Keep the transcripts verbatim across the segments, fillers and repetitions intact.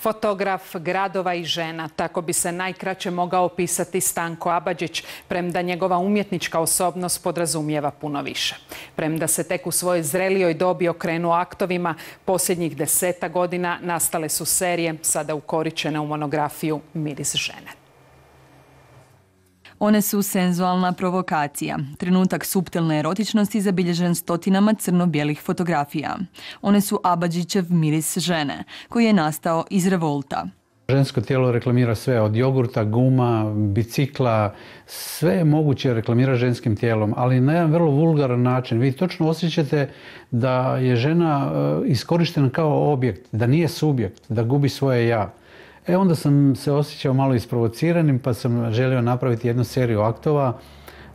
Fotograf gradova i žena, tako bi se najkraće mogao opisati Stanko Abadžić, premda njegova umjetnička osobnost podrazumijeva puno više. Premda se tek u svojoj zrelijoj dobi okrenuo aktovima, posljednjih deseta godina nastale su serije, sada ukoričene u monografiju Miris žene. One su senzualna provokacija, trenutak suptilne erotičnosti zabilježen stotinama crno-bijelih fotografija. One su Abadžićev miris žene, koji je nastao iz revolta. Žensko tijelo reklamira sve, od jogurta, guma, bicikla, sve moguće reklamira ženskim tijelom, ali na jedan vrlo vulgaran način. Vi točno osjećate da je žena iskorištena kao objekt, da nije subjekt, da gubi svoje ja. E onda sam se osjećao malo isprovociranim, pa sam želio napraviti jednu seriju aktova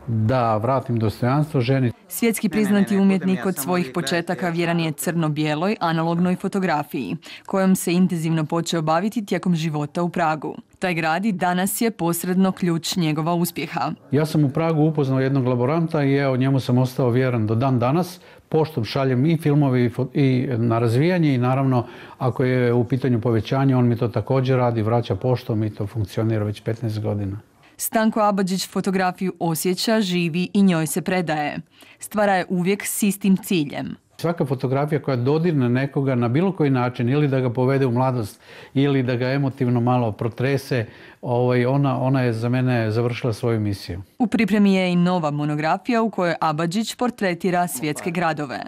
da vratim dostojanstvo ženi. Svjetski priznati umjetnik od svojih početaka vjeran je crno-bijeloj analognoj fotografiji, kojom se intenzivno počeo baviti tijekom života u Pragu. Taj grad i danas je posredno ključ njegova uspjeha. Ja sam u Pragu upoznao jednog laboranta i evo njemu sam ostao vjeran do dan danas. Poštom šaljem i filmove i na razvijanje i naravno ako je u pitanju povećanje, on mi to također radi, vraća poštom i to funkcionira već petnaest godina. Stanko Abadžić fotografiju osjeća, živi i njoj se predaje. Stvara je uvijek s istim ciljem. Svaka fotografija koja dodirne nekoga na bilo koji način, ili da ga povede u mladost, ili da ga emotivno malo protrese, ona, ona je za mene završila svoju misiju. U pripremi je i nova monografija u kojoj Abadžić portretira svjetske gradove.